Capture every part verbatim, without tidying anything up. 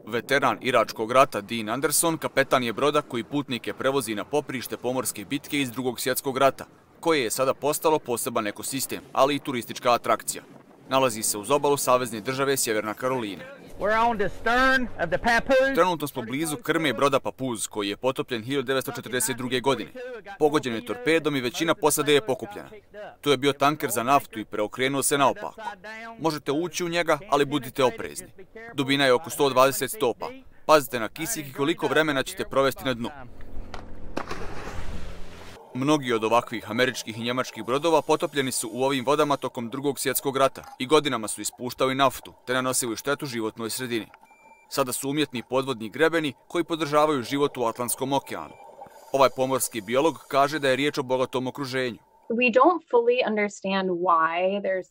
Veteran Iračkog rata Dean Anderson kapetan je broda koji putnike prevozi na poprište pomorske bitke iz Drugog svjetskog rata, koje je sada postalo poseban ekosistem, ali i turistička atrakcija. Nalazi se uz obalu savezne države Sjeverna Karolina. Trenutno smo blizu krme broda Papuz, koji je potopljen hiljadu devetsto četrdeset druge. godine. Pogođen je torpedom i većina posade je pokupljena. To je bio tanker za naftu i preokrenuo se naopako. Možete ući u njega, ali budite oprezni. Dubina je oko sto dvadeset stopa. Pazite na kisik i koliko vremena ćete provesti na dnu. Mnogi od ovakvih američkih i njemačkih brodova potopljeni su u ovim vodama tokom Drugog svjetskog rata i godinama su ispuštali naftu te nanosili štetu životnoj sredini. Sada su umjetni podvodni grebeni koji podržavaju život u Atlantskom okeanu. Ovaj pomorski biolog kaže da je riječ o bogatom okruženju.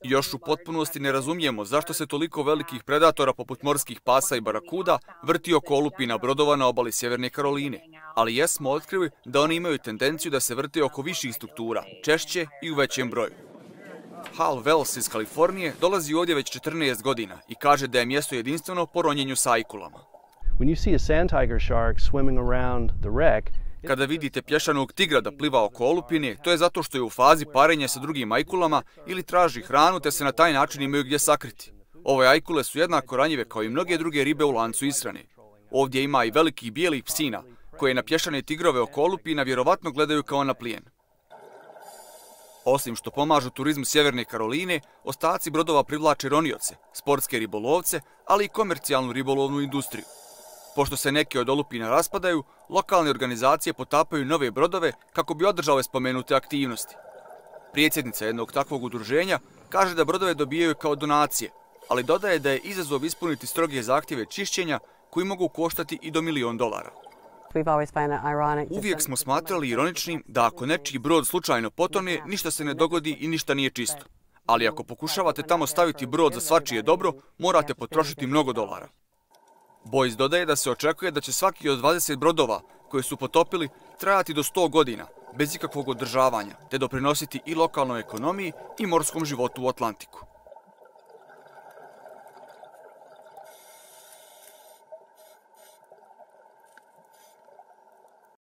Još u potpunosti ne razumijemo zašto se toliko velikih predatora poput morskih pasa i barakuda vrti oko olupina brodova na obali Sjeverne Karoline, ali jesmo otkrili da oni imaju tendenciju da se vrte oko viših struktura, češće i u većem broju. Hal Wells iz Kalifornije dolazi ovdje već četrnaest godina i kaže da je mjesto jedinstveno po ronjenju sa ajkulama. Kada vidite pješanog tigra da pliva oko olupine, to je zato što je u fazi parenja sa drugim ajkulama ili traži hranu te se na taj način imaju gdje sakriti. Ove ajkule su jednako ranjive kao i mnoge druge ribe u lancu ishrane. Ovdje ima i velikih bijelih psina, koje na pješane tigrove oko olupina vjerovatno gledaju kao na plijen. Osim što pomažu turizmu Sjeverne Karoline, ostaci brodova privlače ronioce, sportske ribolovce, ali i komercijalnu ribolovnu industriju. Pošto se neke od olupina raspadaju, lokalne organizacije potapaju nove brodove kako bi održale spomenute aktivnosti. Predsjednica jednog takvog udruženja kaže da brodove dobijaju kao donacije, ali dodaje da je izazov ispuniti stroge zahtjeve čišćenja koji mogu koštati i do milion dolara. Uvijek smo smatrali ironičnim da ako nečiji brod slučajno potone, ništa se ne dogodi i ništa nije čisto. Ali ako pokušavate tamo staviti brod za svačije dobro, morate potrošiti mnogo dolara. Boyce dodaje da se očekuje da će svaki od dvadeset brodova koje su potopili trajati do sto godina, bez ikakvog održavanja, te doprinositi i lokalnoj ekonomiji i morskom životu u Atlantiku.